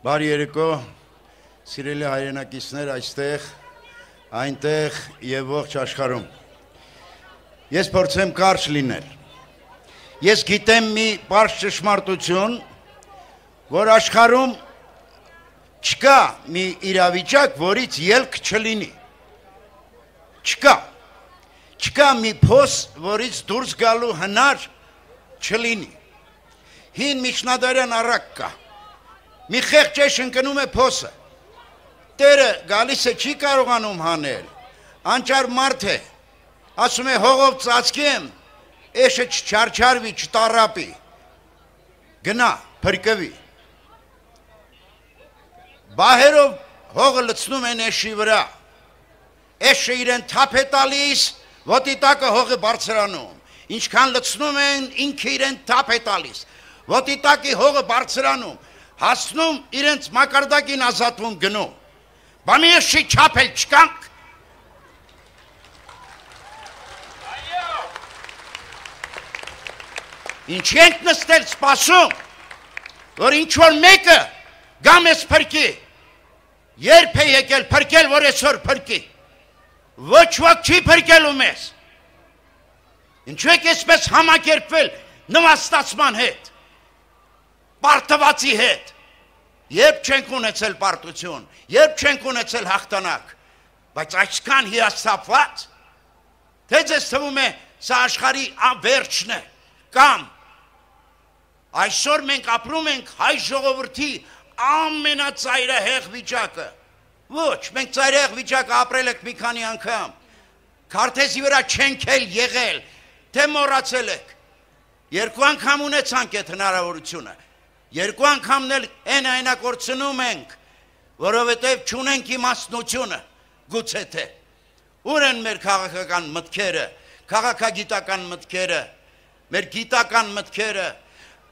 Բարի երեկո, սիրելի հայրենակիցներ այստեղ, այնտեղ և ողջ աշխարհում։ Ես փորձեմ կարճ լինել։ Ես գիտեմ մի պարզ ճշմարտություն, որ աշխարհում չկա մի իրավիճակ, որից ելք չլինի։ Չկա մի փոս, որից դուրս գալու հնար չլինի։ Հին միջնադարյան առակ կա։ Մի խեղճ էշ ընկնում է փոսը։ Տերը գալիս է չի կարողանում հանել։ Անճար մարդ է։ Ասում է հողով ծածկեմ, էշը չչարչարվի, չտառապի։ Գնա, փրկվի։ Բահերով հողը լցնում են էշի վրա։ Էշը իրեն թափ է տալիս, ոտի տակը հողը բարձրանում։ Ինչքան լցնում են, ինքը իրեն թափ է տալիս։ Ոտի տակի հողը բարձրանում, հասնում իրենց մակարդակին ազատվում գնում։ Բա մի էշի չափել չկանք։ Ինչ ենք նստել սպասում, որ ինչ-որ մեկը գա մեզ փրկի։ Երբ է եկել փրկել, որ այսօր փրկի։ Ոչ ոք չի փրկելու մեզ։ Ինչու եք այսպես համակերպվել նվաստացման հետ, պարտվածի հետ։ Երբ չենք ունեցել պարտություն, երբ չենք ունեցել հաղթանակ, բայց այսքան հիասթափված, թե ձեզ թվում է սա աշխարհի վերջն է, կամ այսօր մենք ապրում ենք հայ ժողովրդի ամենածայրահեղ վիճակը։ Ոչ, մենք ծայրահեղ վիճակը ապրել ենք մի քանի անգամ։ Քարտեզի վրա չենք էլ եղել, թե մոռացել եք։ Երկու անգամ ունեցանք այդ հնարավորությունը։ Երկու անգամն էլ այնա կորցնում ենք, որովհետև չունենք իմաստնությունը, գուցե թե։ Ուր են մեր քաղաքական մտքերը, քաղաքագիտական մտքերը, մեր գիտական մտքերը։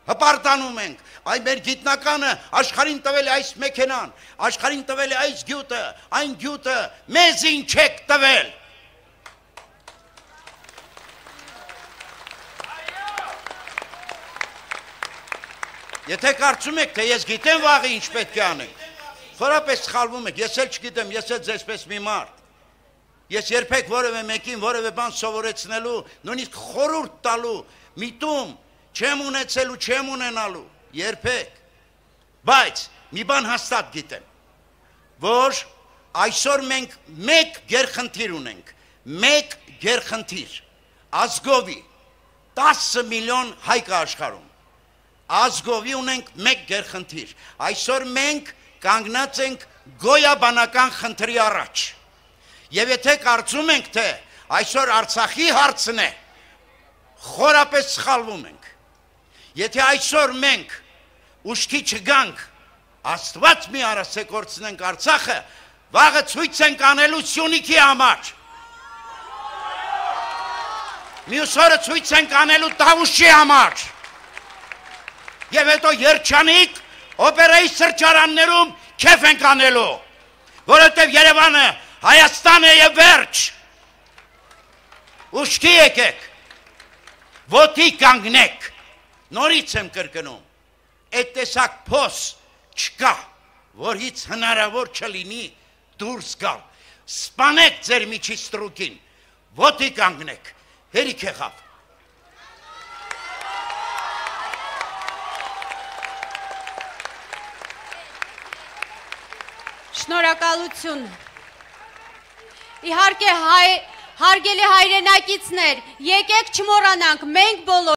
Հպարտանում ենք, այ մեր գիտնականը աշխարհին տվել է այս մեքենան, աշխարհին տվել է այս գյուտը, այն գյուտը, մեզ ինչ եք տվել։ Եթե կարծում եք, թե ես գիտեմ վաղը ինչ պետք է անենք, խորապես սխալվում եք, ես էլ չգիտեմ, ես էլ ձեզպես մի մարդ։ Ես երբեք որևէ մեկին որևէ բան սովորեցնելու, նույնիսկ խորհուրդ տալու, միտում չեմ ունեցել ու չեմ ունենալու, երբեք, բայց մի բան հաստատ գիտեմ, որ այսօր մենք մեկ գերխնդիր ունենք, մեկ գերխնդիր, ազգովի, 10 միլիոն հայ կա աշխարհում, ազգովի ունենք մեկ գերխնդիր, այսօր մենք կանգնած ենք գոյաբանական խնդրի առաջ, և եթե կարծում ենք, թե այսօր Արցախի հարցն է, խորապես սխալվում ենք։ Եթե այսօր մենք ուշքի չգանք, Աստված մի արած է կորցնենք Արցախը, վաղը ցույց ենք անելու Սյունիքի համար։ Մյուս օրը ցույց ենք անելու Տավուշի համար։ Եվ հետո երջանիկ օպերայի սրճարաններում քեֆ ենք անելու, որովհետև Երևանը Հայաստան է եւ վերջ։ Ուշքի եկեք, ոտի կանգնեք։ Նորից եմ կրկնում, այդ տեսակ փոս չկա, որից հնարավոր չլինի դուրս գալ։ Սպանեք ձեր միջի ստրուկին, ոտի կանգնեք, հերիք եղավ։ Շնորհակալություն։ Իհարկե հարգելի հայրենակիցներ, եկեք չմոռանանք, մենք բոլոր